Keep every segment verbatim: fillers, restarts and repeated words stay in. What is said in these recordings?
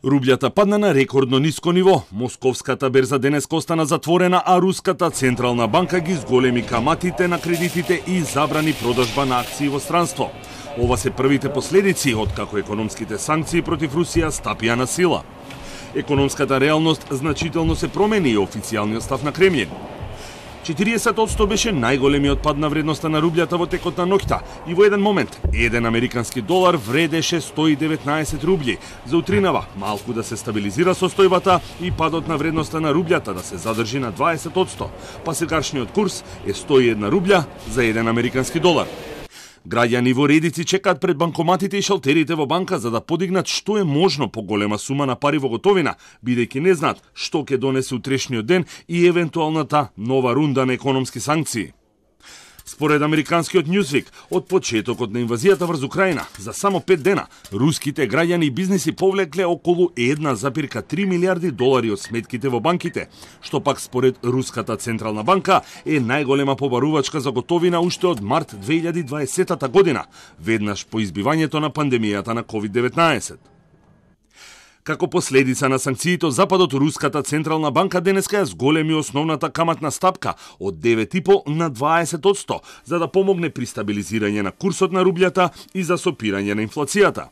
Рублјата падна на рекордно ниско ниво. Московската берза денеска остана затворена, а Руската централна банка ги зголеми каматите на кредитите и забрани продажба на акции во странство. Ова се првите последици откако економските санкции против Русија стапија на сила. Економската реалност значително се промени и официјалниот став на Кремљин. четириесет одсто беше најголемиот пад на вредноста на рублјата во текот на ноќта и во еден момент еден американски долар вредеше сто и деветнаесет рубљи. За утринава малку да се стабилизира состојбата и падот на вредноста на рублјата да се задржи на дваесет одсто, па сегашниот курс е сто и една рублја за еден американски долар. Граѓани во редици чекаат пред банкоматите и шалтерите во банка за да подигнат што е можно поголема сума на пари во готовина, бидејќи не знаат што ќе донесе утрешниот ден и евентуалната нова рунда на економски санкции. Според американскиот Newsweek, од почетокот на инвазијата врз Украина, за само пет дена, руските граѓани и бизниси повлекле околу една запирка три милиарди долари од сметките во банките, што пак според Руската централна банка е најголема побарувачка за готовина уште од март две илјади и дваесета година, веднаш по избивањето на пандемијата на ковид деветнаесет. Како последица на санкциите од Западот, Руската централна банка денеска ја зголеми основната каматна стапка од девет и по на дваесет одсто, за да помогне при стабилизирање на курсот на рублјата и за сопирање на инфлацијата.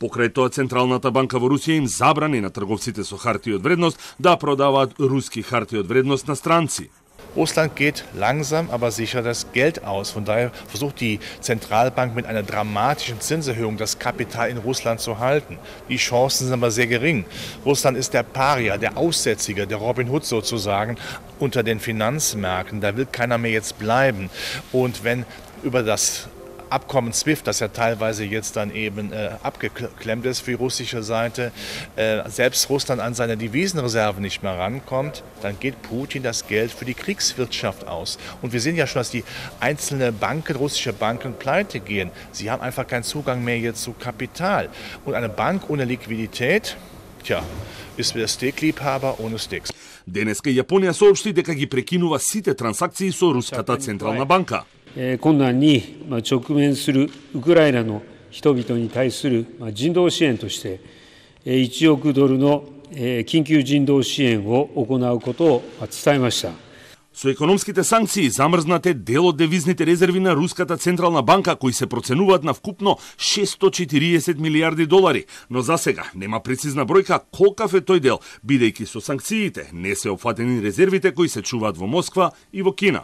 Покрај тоа, Централната банка во Русија им забрани на трговците со харти од вредност да продаваат руски харти од вредност на странци. Russland geht langsam, aber sicher das Geld aus. Von daher versucht die Zentralbank mit einer dramatischen Zinserhöhung das Kapital in Russland zu halten. Die Chancen sind aber sehr gering. Russland ist der Paria, der Aussätzige, der Robin Hood sozusagen unter den Finanzmärkten. Da will keiner mehr jetzt bleiben. Und wenn über das Abkommen SWIFT, das ja teilweise jetzt dann eben äh, abgeklemmt ist für die russische Seite, äh, selbst Russland an seine Devisenreserven nicht mehr rankommt, dann geht Putin das Geld für die Kriegswirtschaft aus. Und wir sehen ja schon, dass die einzelnen Banken, russische Banken pleite gehen. Sie haben einfach keinen Zugang mehr jetzt zu Kapital. Und eine Bank ohne Liquidität, tja, ist wie der Steakliebhaber ohne Steaks. Денеска Јапонија соопшти дека ги прекинува сите трансакции со Руската централна банка. 困難に直面するウクライナの人々に対する人道支援としていちおくドルの緊急人道支援を行うことを伝えました。Со економските санкции замрзнате дел од девизните резерви на Руската централна банка кои се проценуваат на вкупно шестстотини и четириесет милиарди долари, но за сега нема прецизна бројка колкав е тој дел, бидејќи со санкциите не се опфатени резервите кои се чуваат во Москва и во Кина.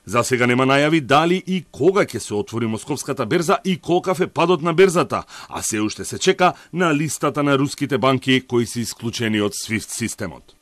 За сега нема најави дали и кога ќе се отвори Московската берза и колкав е падот на берзата, а се уште се чека на листата на руските банки кои се исклучени од SWIFT системот.